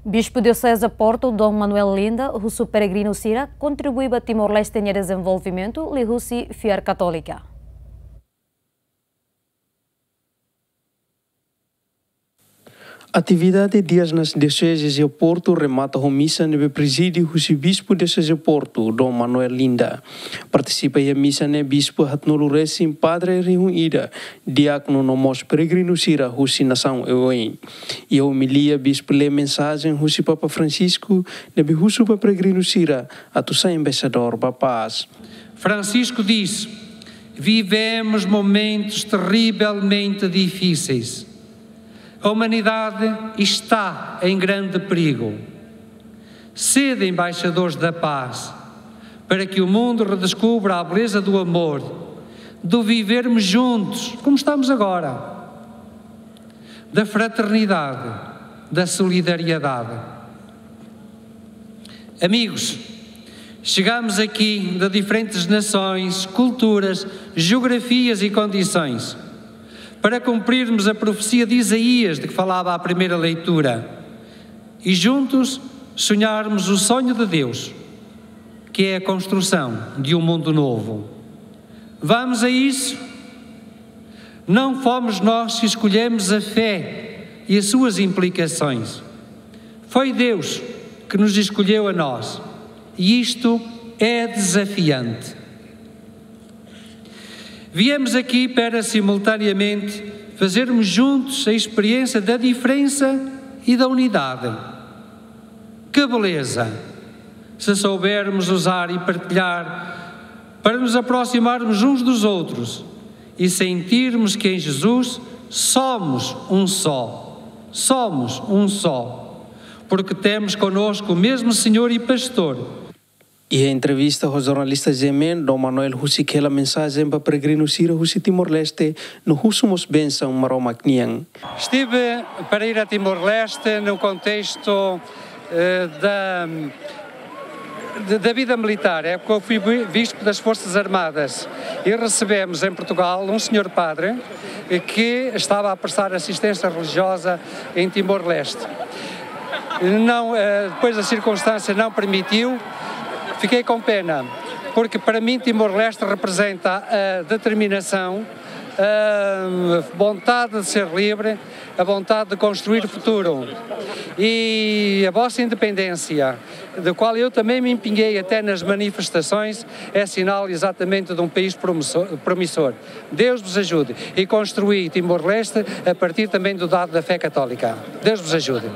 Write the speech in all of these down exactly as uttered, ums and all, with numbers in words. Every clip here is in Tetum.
Bispu Dioseze Porto, Dom Manuel Linda, husu peregrinu sira kontribui ba Timor-Leste nia dezenvolvimentu liuhusi fiar Katólika. Atividade Dias nas Dioseses e Porto remata ho misa ne'ebé prezide husi Bispu Dioseze Porto, Dom Manuel Linda. Partisipa iha misa ne'e bispu haatnulu resin, padre rihun ida, diákonu no mós peregrinu sira husi nasaun oioin. Iha omilia, bispu lee mensajen husi Papa Francisco ne'ebé husu ba peregrinu sira atu sai embaixadór ba pás. Francisco disse: "Vivemos momentos terrivelmente difíceis. A humanidade está em grande perigo. Sede embaixadores da paz, para que o mundo redescubra a beleza do amor, do vivermos juntos, como estamos agora, da fraternidade, da solidariedade." Amigos, chegamos aqui de diferentes nações, culturas, geografias e condições, para cumprirmos a profecia de Isaías de que falava à primeira leitura e juntos sonharmos o sonho de Deus, que é a construção de um mundo novo. Vamos a isso? Não fomos nós que escolhemos a fé e as suas implicações. Foi Deus que nos escolheu a nós. E isto é desafiante. Viemos aqui para simultaneamente fazermos juntos a experiência da diferença e da unidade. Que beleza! Se soubermos usar e partilhar para nos aproximarmos uns dos outros e sentirmos que em Jesus somos um só. Somos um só. Porque temos connosco o mesmo Senhor e Pastor. Iha entrevista ho jornalista G M N, Dom Manuel husik hela mensajen ba peregrinu sira husi Timor-Leste no husu mós bensaun Maromak nian. Estive para ir a Timor-Leste no contexto, eh, da, de, da vida militar, é porque eu fui bi-, bispo das Forças Armadas e recebemos em Portugal um senhor padre, eh, que estava a prestar assistência religiosa em Timor-Leste. Não, eh, depois a circunstância não permitiu, fiquei com pena, porque para mim Timor-Leste representa a determinação, a vontade de ser livre, a vontade de construir o futuro. E a vossa independência, da qual eu também me empenhei até nas manifestações, é sinal exatamente de um país promissor, promissor. Deus vos ajude e construí Timor-Leste a partir também do dado da fé católica. Deus vos ajude.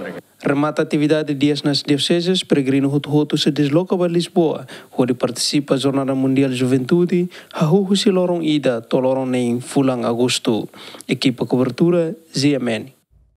Remata atividade Dias nas Dioseses, peregrinu hotu-hotu sei desloka ba Lisboa, hodi partisipa Jornada Mundial Juventude, hahú husi loron ida to'o loron neen fulan Agostu. Ekipa kobertura, G M N.